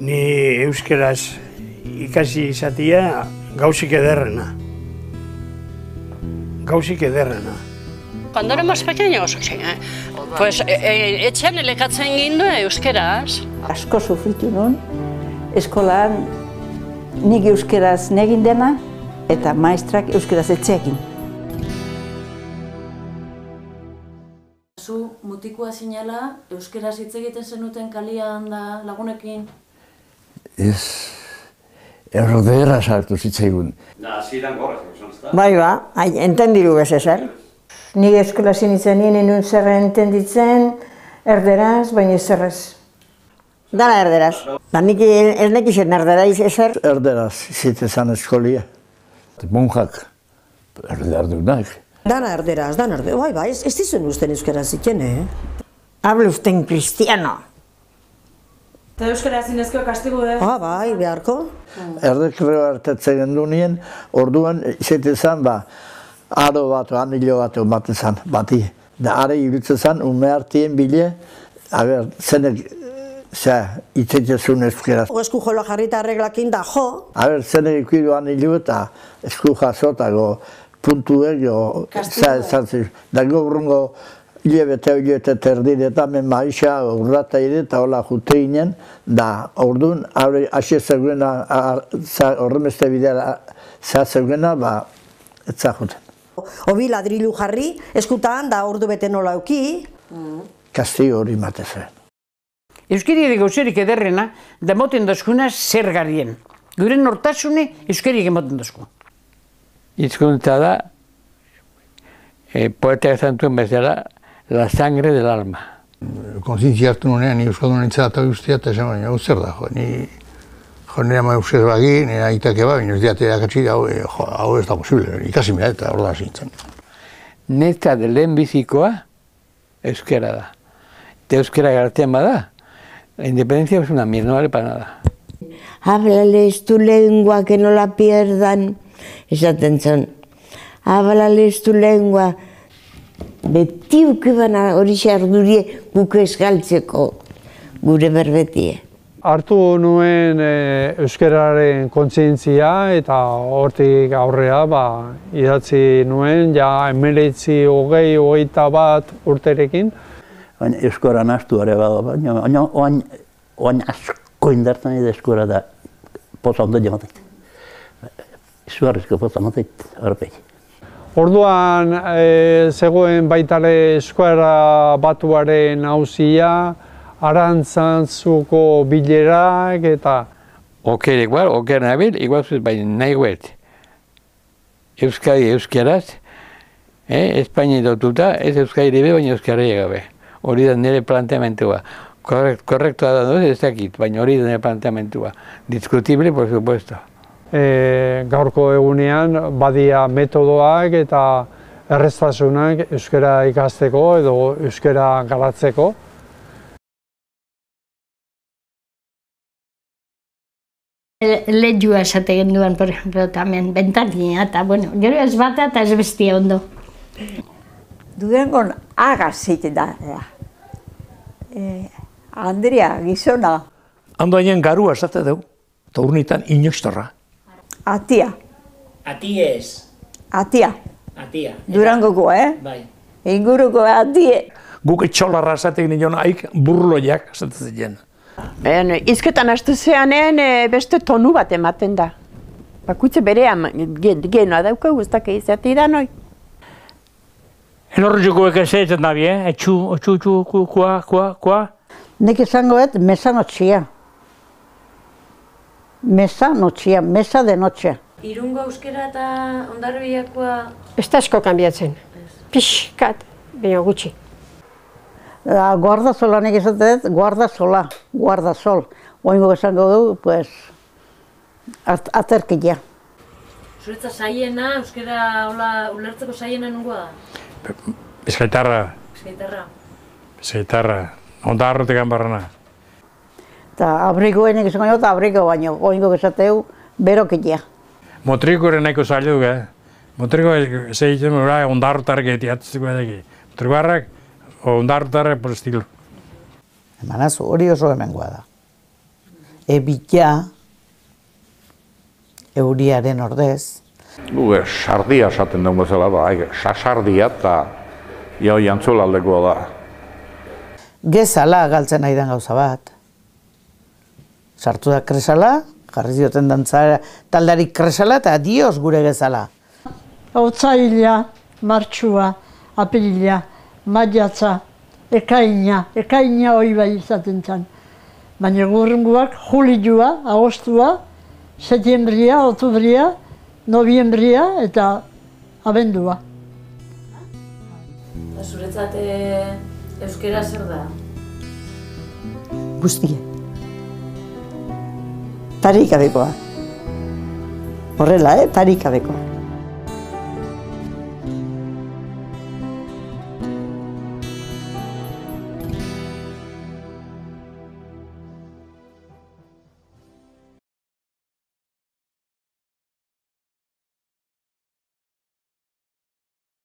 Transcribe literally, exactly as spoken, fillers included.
Ni euskeraz ikasi izatia gauzik ederrena. Gauzik ederrena. Cuando éramos pequeños, pues etxean elekatzen ginduen euskeraz. Asko sufritu nun, eskolan nik euskeraz negin dena eta maestrak euskeraz etxeekin. Zu mutikoa zinela, euskeraz hitz egiten zenuten kalian da lagunekin? Ez, errodera sartu zitzaigun. Bai ba, entendiru bez ezer. Ni eskola zinitzen nien enun zer entenditzen, erderaz, baina zerrez. Dana erderaz. Da nik ez nekizien erderaz ezer. Erderaz zitezan eskolia. Monjak, erderdunak. Dana erderaz, dana erderaz. Bai ba, ez dizuen usten euskera zitzen, eh? Hablo usten cristiano. Eta euskara zinezko kastigu, eh? Ah, bai, beharko. Erdekreo hartatzen gendu nien, orduan zitezan, ba, aro bat, anilo bat ematen zan, bati. Da are irutzen zan, ume hartien bile, aber, zenek, ze, itzetezun euskeraz. Esku jola jarrita arreglakin da jo. Aber, zenek ikuiru anilo eta esku jasotago puntuek, jo, ze, zantzir. Da gobrungo, hilebete hilebete terdire eta men maixa urrata ere eta hola jute ginen, da orduan, hasi zegoena, horremeste bidea zegoena, ba, etza juten. Obi ladrilu jarri, eskutan da ordu bete nola euki. Kastigo hori matezuen. Euskari gauzerik ederrena, da moten dozkuna zer garien. Gure nortasune euskari emoten dozku. Hizkuntza da, poeta esan duen bezala, la sangre del alma. Kontzientzia hartu nunean, ni euskaldun nintzen eta guztia, eta esan baina, hau zer da, jo, ni jo nire ama euskaz bagi, nire aitake ba, baina ez diate erakatzi, hau ez da posible, ikasi mira eta hor da zintzen. Neta de lehen bizikoa, euskera da. Eta euskera gartean bada, la independencia es una mierda, no vale para nada. Háblales tu lengua, que no la pierdan. Esaten zon. Háblales tu lengua. Beti ukibana hori xardurie guk esgaltzeko gure berbetie. Hartu nuen euskararen kontzientzia eta hortik aurrea idatzi nuen ja hemeretzi hogei hogeita bat urterekin. Baina euskara nahastu ere bada, baina oain asko indartzen edo euskara da poza ondo jamatet. Izugarrizko poza matet horpek. Orduan zegoen baitare euskara batuaren auzia, Arantzantzuko bilerak eta... Oker igual, oker nabil, igual zuz baina nahi guet. Euskadi euskeraz, Espainia dotuta, ez Euskadi ribe, baina Euskara gabe. Hori da nire planteamentua. Korrektua da duz, ez dakit, baina hori da nire planteamentua. Discutible, por supuesto. Gaurko egunean badia metodoak eta erreztasunak euskara ikasteko edo euskara garatzeko. Lehua esate genduan, por ejemplo, tamen, bentania eta, bueno, gero ez bata eta ez bestia ondo. Durangon agaz zeiten da. Andrea, gizona. Andoainen garua esate dugu, eta urnitan inoiztorra. Atia. Atiez. Atia. Atia. Durangoko, eh? Bai. Inguruko atie. Guk etxolarra esatek nion haik burloiak esaten ziren. Izketan hastu zeanen beste tonu bat ematen da. Bakutze berean genoa daukagu, ez dakit izate da noi. Elorruko ekezeetan dabi, eh? Etxu, etxu, etxu, kua, kua, kua. Nik esangoet mesanotxia. Mesanotxia, mesa de notxea. Irungo euskera eta Hondarribiakoa... Ez da asko kanbiatzen. Pixkat, baina gutxi. Guardazola nik esatet, guardazola, guardazol. Oingo esango du, pues, aterkia. Zuretza saiena, euskera ulertzeko saiena nungoa da? Bizkaitarra. Bizkaitarra. Bizkaitarra. Hondarrotekan barrana. Eta abrigoenik esango dut, abrigo baino, oingo esateu, berokia. Motrikoren nahiko zaila dugu, eh? Motriko zeitzen bera ondarrotarrak etiatzeko edeki. Motrikoarrak, ondarrotarrak por estilo. Emanazu, hori oso hemengoa da. ebila, euriaren ordez. Gu, sardia esaten dugu zela, ba, sasardia eta jau jantzulaldeko da. Gezala galtzen nahi den gauza bat. Sartu da kresala, jarri zioten dantzara taldarik kresala eta dioz gure gezala. Otsaila, martxua, apirila, maiatza, ekaina, ekaina hori bai izaten zen. Baina gurrunguak julilua, agostua, setiembria, otubria, noviembria eta abendua. Eta zuretzat euskera zer da? Guztia. Tarik abekoa. Horrela, eh? Tarik abekoa.